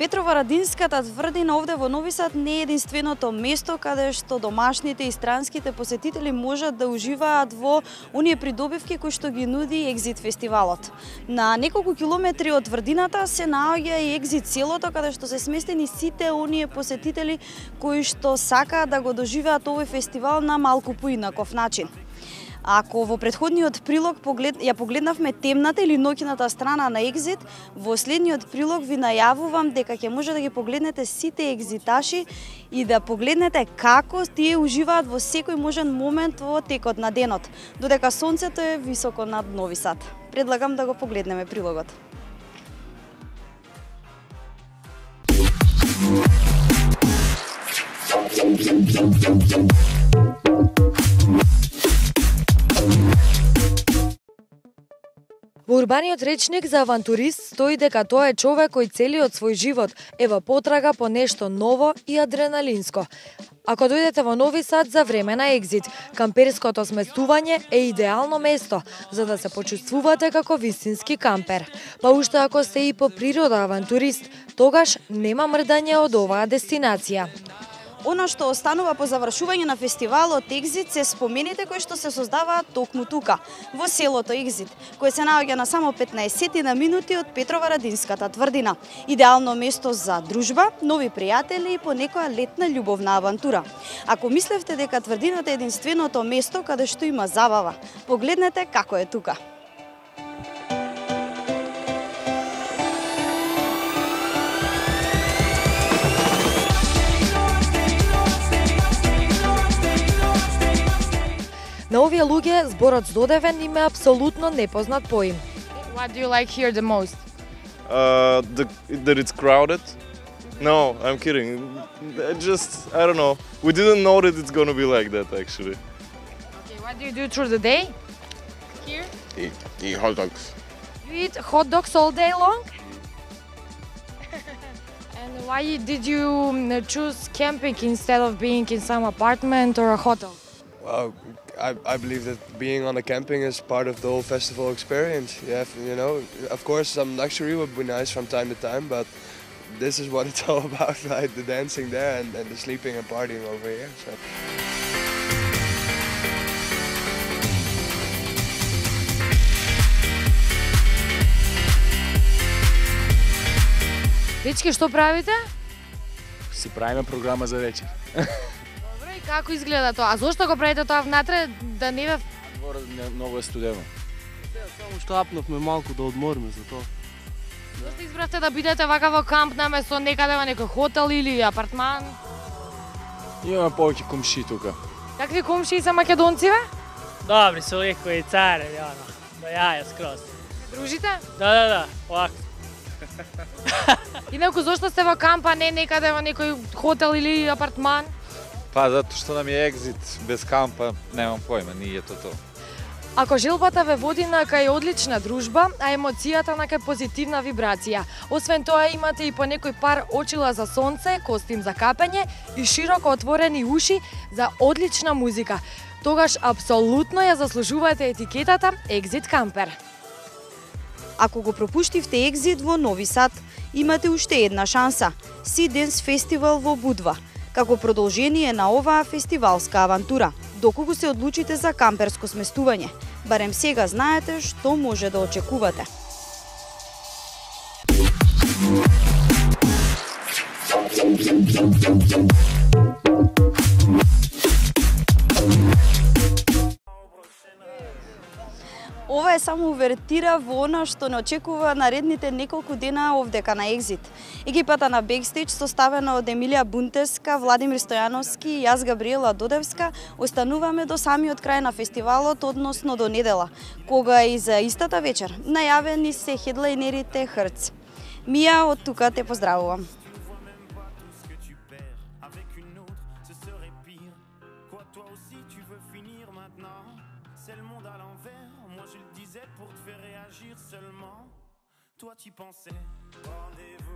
Петрово-Радинската тврдина овде во Нови Сад не е единственото место каде што домашните и странските посетители можат да уживаат во оние придобивки кои што ги нуди Екзит фестивалот. На неколку километри од тврдината се наоѓа и Екзит селото каде што се сместени сите оние посетители кои што сакаат да го доживеат овој фестивал на малку поинаков начин. Ако во претходниот прилог ја погледнавме темната или ноќната страна на Екзит, во следниот прилог ви најавувам дека ќе може да ги погледнете сите екзиташи и да погледнете како тие уживаат во секој можен момент во текот на денот, додека сонцето е високо над Нови Сад. Предлагам да го погледнеме прилогот. Во урбаниот речник за авантурист стои дека тоа е човек кој целиот свој живот е во потрага по нешто ново и адреналинско. Ако дојдете во Нови Сад за време на Екзит, камперското сместување е идеално место за да се почувствувате како вистински кампер. Па уште ако сте и по природа авантурист, тогаш нема мрдање од оваа дестинација. Она што останува по завршување на фестивалот Екзит се спомените кои што се создаваат токму тука, во селото Екзит, кое се наоѓа на само 15 на минути од Петрово-Радинската тврдина. Идеално место за дружба, нови пријатели и по некоја летна љубовна авантура. Ако мислевте дека тврдината е единственото место каде што има забава, погледнете како е тука. На овие луѓе зборот здодевен им е апсолутно непознат поим. What do you like here the most? That it's crowded. No, I'm kidding. I don't know. We didn't know that it's gonna be like that actually. Okay, what do you do through the day? Here? Eat hot dogs. You eat hot dogs all day long? And why did you choose camping instead of being in some apartment or a hotel? Well, I believe that being on a camping is part of the whole festival experience. Of course, some luxury would be nice from time to time, but this is what it's all about, right? The dancing there and the sleeping and partying over here. So. Дечки, што правите? Си правиме програма за вечер. Добро, и како изгледа тоа? А зошто го правите тоа внатре, да не ве... Дворот многу е студено. Само што апнавме малку да одмориме за тоа. Зошто избравте да бидете вака во камп наместо некаде во некој хотел или апартман? Имаме повеќе комшии тука. Какви комшии се македонци, бе? Добри се лекои цареви, оно. До јаја скроз. Дружите? Да, овако. Инаку зошто сте во камп, а не некаде во некој хотел или апартман? Па затоа што нам е Екзит, без кампа немам појма, ние тоа. Ако желбата ве води на кај одлична дружба, а емоцијата на кај позитивна вибрација. Освен тоа имате и по некој пар очила за сонце, костим за капење и широко отворени уши за одлична музика. Тогаш апсолутно ја заслужувате етикетата Екзит кампер. Ако го пропуштивте Екзит во Нови Сад, имате уште една шанса – Sea Dance Festival во Будва, како продолжение на оваа фестивалска авантура, доколку се одлучите за камперско сместување. Барем сега знаете што може да очекувате. Ова е само увертира во она што не очекува наредните неколку дена овдека на Екзит. Екипата на Бекстејдж, составена од Емилија Бунтеска, Владимир Стојановски и јас Габриела Додевска, остануваме до самиот крај на фестивалот, односно до недела, кога и за истата вечер најавени се хедлайнерите Хрц. Мија од тука те поздравувам. C'est le monde à l'envers, moi je le disais pour te faire réagir seulement. Toi tu pensais, rendez-vous.